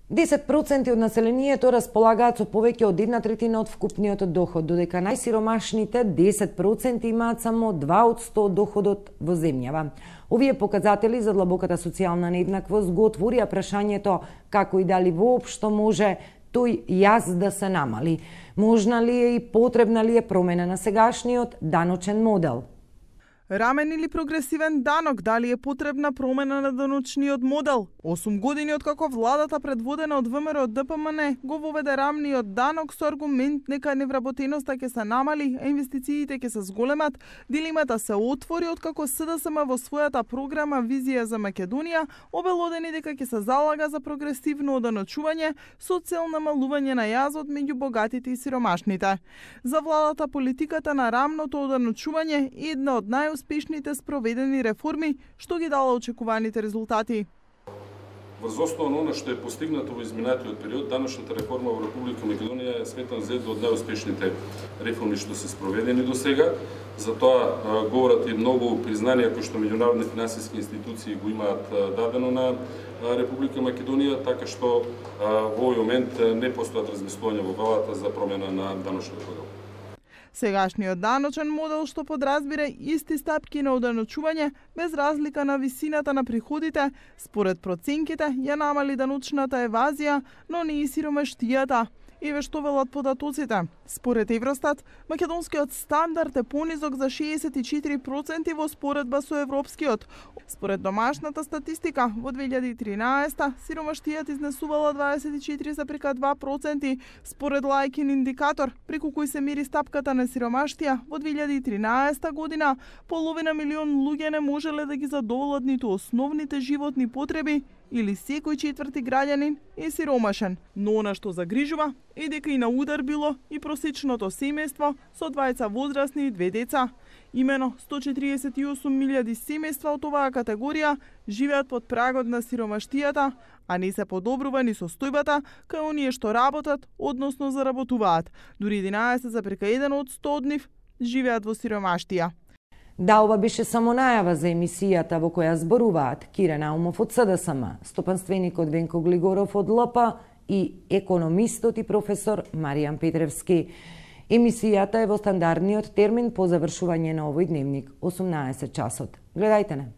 10% од населението располагаат со повеќе од 1/3 од вкупниот доход, додека најсиромашните 10% имаат само 2% од доходот во земјава. Овие показатели за длабоката социјална нееднаквост го отворија прашањето како и дали воопшто може тој јаз да се намали. Можна ли е и потребна ли е промена на сегашниот даночен модел? Рамен или прогресивен данок, дали е потребна промена на даночниот модел? 8 години откако владата предводена од ВМРО ДПМН го воведе рамниот данок со аргумент нека невработеноста ќе се намали, а инвестициите ќе се зголемат, дилемата се отвори откако СДСМ во својата програма Визија за Македонија обелодени дека ќе се залага за прогресивно оданочување со цел намалување на јазот меѓу богатите и сиромашните. За владата политиката на рамното оданочување е една од најуспешните спроведени реформи што ги дала очекуваните резултати. Врз основа на она што е постигнато во изминатиот период, даночната реформа во Република Македонија е сметан за една од најуспешните реформи што се спроведени до сега. Затоа говорат и многу признанија кои што меѓународни финансиски институции го имаат дадено на Република Македонија, така што во овој момент не постојат размислувања во владата за промена на даночниот модел. Сегашниот даночен модел што подразбира исти стапки на оданочување без разлика на висината на приходите, според проценките ја намали даночната евазија, но не и сиромаштијата. Еве што велат податоците. Според Евростат, македонскиот стандард е понизок за 64% во споредба со европскиот. Според домашната статистика, во 2013 сиромаштијата изнесувала 24,2%. Според Лајкин индикатор, преку кој се мери стапката на сиромаштија, во 2013 година половина милион луѓе не можеле да ги задоволат ниту основните животни потреби, или секој четврти граѓанин е сиромашен. Но она што загрижува е дека и на удар било и просечното семејство со двајца возрасни и 2 деца. Имено 148.000 семејства од оваа категорија живеат под прагот на сиромаштијата, а не се подобрува ни состојбата кај оние што работат, односно заработуваат. Дури 11,1 од 100 од нив живеат во сиромаштија. Да, ова беше само најава за емисијата во која зборуваат Кире Наумов од СДСМ, стопанственикот Венко Глигоров од ЛП и економистот и професор Маријан Петревски. Емисијата е во стандардниот термин по завршување на овој дневник, 18 часот. Гледајте не.